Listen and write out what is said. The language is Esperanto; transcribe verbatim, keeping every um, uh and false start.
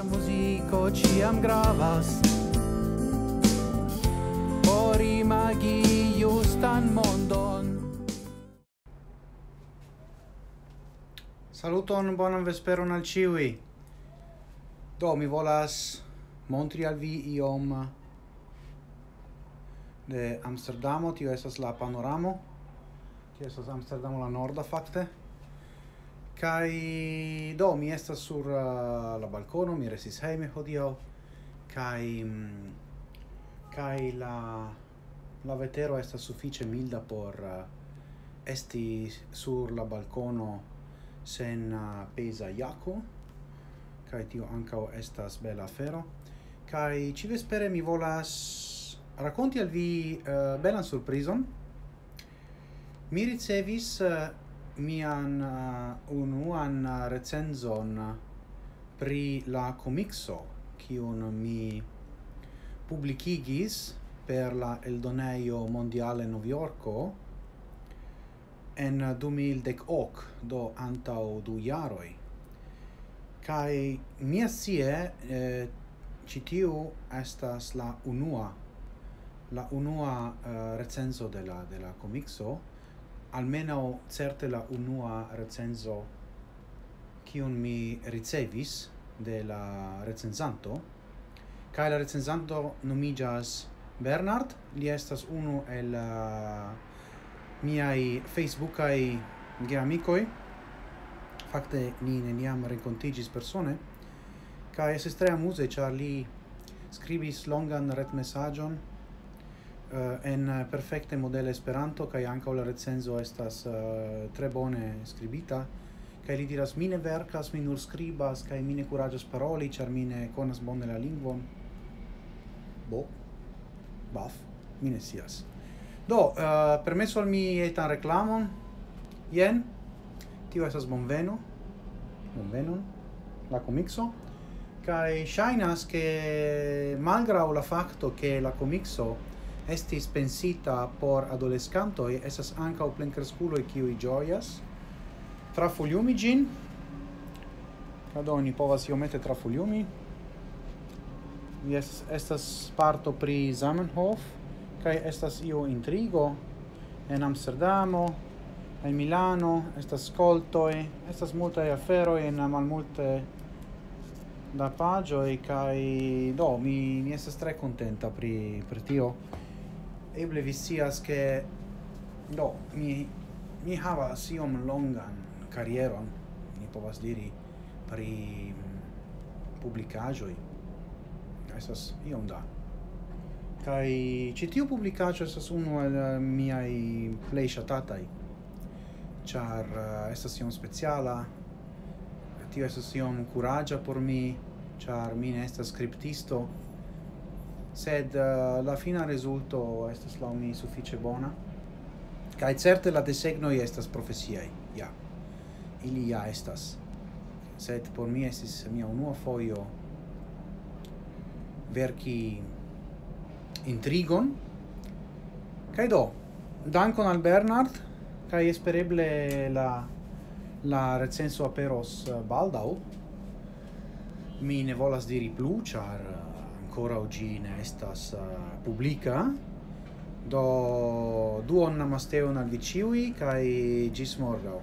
Muziko ĉiam gravas por imagi justan mondon. Saluton, bonan vesperon al ĉiuj. Do, mi volas montri al vi iom de Amsterdamo. Tio estas la panoramo. Tio estas Amsterdamo la norda, fakte. Kaj do, mi estas sur uh, la balkono, mi restis hejme hodiaŭ. Kaj mm, kaj la la vetero estas sufiĉe milda por uh, esti sur la balkono sen uh, peza jako. Kaj tio ankaŭ estas bela afero. Kaj ĉivespere mi volas rakonti al vi uh, belan surprizon. Mi ricevis uh, mian uh, unuan uh, recenzon pri la komikso, kiun mi publikigis per la eldonejo Mondiale Novjorko en du mil dek ok, do antaŭ du jaroj. Kaj miascie eh, ĉi tiu estas la unua, la unua eh, recenzo de la, de la komikso, almenaŭ certe la unua recenzo, kiun mi ricevis de la recenzanto. Kaj la recenzanto nomiĝas Bernard, li estas unu el uh, miaj facebookaj geamikoj. Fakte ni neniam renkontiĝis persone. Kaj estis tre amuze, ĉar li skribis longan retmesaĝon uh, en perfekte modele Esperanto, kaj ankaŭ la recenzo estas uh, tre bone skribita. Kaj li diras: "Mi ne verkas, mi nur skribas, kaj mi ne kuraĝas paroli, ĉar mi ne konas bone la lingvon." Bo, baf, mi ne scias. Do, uh, permesu al mi etan reklamon. Jen, tio estas bonveno. Bonvenon, la komikso. Kaj ŝajnas, ke malgraŭ la fakto, ke la komikso estis pensita por adoleskantoj, estas ankaŭ plenkreskuloj, kiuj ĝojas. Trafuljumi ĝin. Do, ni povas iomete trafuljumi. Jes, estas parto pri Zamenhof, kaj estas io intrigo en Amsterdamo, en Milano, estas skoltoj, estas multaj aferoj en malmulte da paĝoj, kaj do, mi, mi estas tre kontenta pri, pri tio. Eble vi scias, ke do, mi, mi havas iom longan karieron, mi povas diri, pri mm, publikaĵoj. Estas iom da. Kaj ĉi tiu publikaĵo estas unu el eh, miaj plej ŝatataj, ĉar eh, estas iom speciala. Tio estas iom kuraĝa por mi, ĉar mi ne estas skriptisto. Sed eh, la fina rezulto estas laŭ mi sufiĉe bona. Kaj certe la desegnoj estas profesiaj, ja. Ili ja estas. Sed por mi estis mia unua fojo verki intrigon. Kaj do, dankon al Bernard, kaj espereble la, la recenso aperos eh, baldaŭ. Mi ne volas diri plu, ĉar eh, ankoraŭ ĝi ne estas eh, publika. Do, duon namasteon al vi ĉiuj, kaj ĝis morgaŭ.